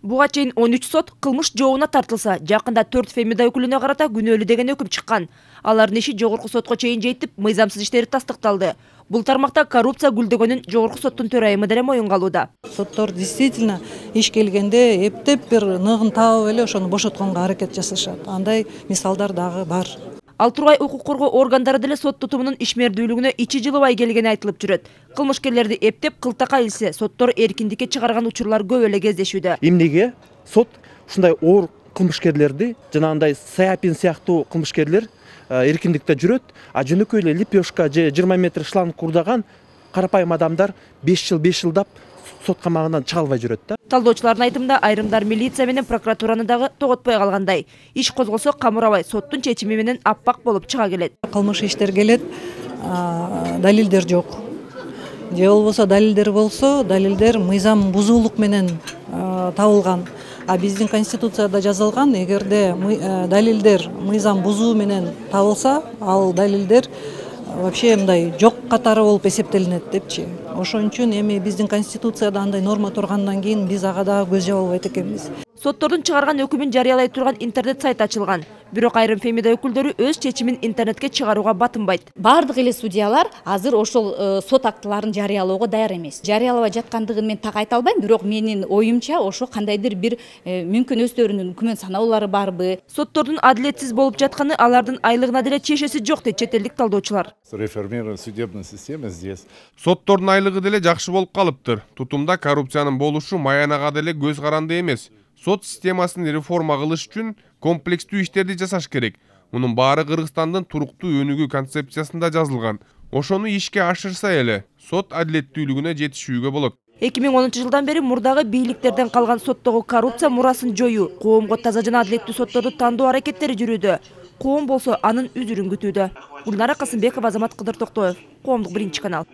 Буга чейин 13 сот кылмыш жообуна тартылса, жакында 4 фемида өкүлүнө карата күнөөлүү деген өкүм чыккан. Алардын иши жогорку сотко чейин жетип, мыйзамсыз иштери тастыкталды. Бул тармакта коррупция гүлдөгөнүн жогорку соттун төрайымы деле моюнга алууда. Соттор действительно иш келгенде эптеп бир ныгын таап эле ошону бошотконго аракет жасашат. Андай мисалдар дагы бар. Ал тургай укук коргоо органдары деле сот тутумунун ишмердүүлүгүнө ичи жылыбай келгени айтылып жүрөт. Кылмышкерлерди эптеп кылтакка илсе, соттор эркиндикке чыгарган учурлар көп эле кездешүүдө. Эмнеге сот ушундай оор кылмышкерлерди, жанагындай Саяпин сыяктуу кылмышкерлер эркиндикте жүрөт, а жөнөкөй эле лепешка же 20 метр шланг курдаган карапайым адамдар 5 жылдап сот камагынан чыга албай жүрөт да. Талдоочулардын айтымында айрымдар милиция менен прокуратураны дагы тоготпой калгандай. Иш козголсо камырабай соттун чечими менен аппак болуп чыга келет. Кылмыш иштер келет, далилдер жок. Же болбосо далилдер болсо, далилдер мыйзам бузуулук менен табылган. А биздин конституцияда жазылган, эгерде далилдер мыйзам бузуу менен табылса, ал далилдер вообще мындай жок катары болуп эсептелинет депчи. Ошон үчүн эми биздин конституцияда андай норма тургандан кийин биз ага дагы көз жаба албайт экенбиз. Соттордун чыгарган өкүмүн жарыялай турган интернет сайт ачылган. Бирок айрым фемида өкүлдөрү өз чечимин интернетке чыгарууга батынбайт. Бардык эле судьялар азыр ошол сот актыларын жарыялоого даяр эмес. Жарыялабай жаткандыгын мен так айта албайм, бирок менин оюмча ошо кандайдыр бир мүмкүн өздөрүнүн күмөн саноолору барбы. Соттордун адилетсиз болуп жатканы алардын айлыгына деле чечеси жок дейт чет элдик талдоочулар. Реформирована судебная система здесь. Соттордун айлыгы деле жакшы болуп калыптыр. Тутумда коррупциянын болушу маянага деле көз каранды эмес. Сот системасын реформа кылыш үчүн комплекстүү иштерди жасаш керек. Мунун баары Кыргызстандын туруктуу өнүгүү концепциясында жазылган. Ошону ишке ашырса эле сот адилеттүүлүгүнө жетишүүгө болот. 2010 жылдан бери мурдагы бийликтерден калган соттогу коррупция мурасын жоюу, коомго таза жана адилеттүү сотторду тандоо аракеттери жүрүүдө. Коом болсо анын үзүрүн күтүүдө. Гүлнара Касымбекова, Азамат Кыдыр Токтоев, Коомдук биринчи канал.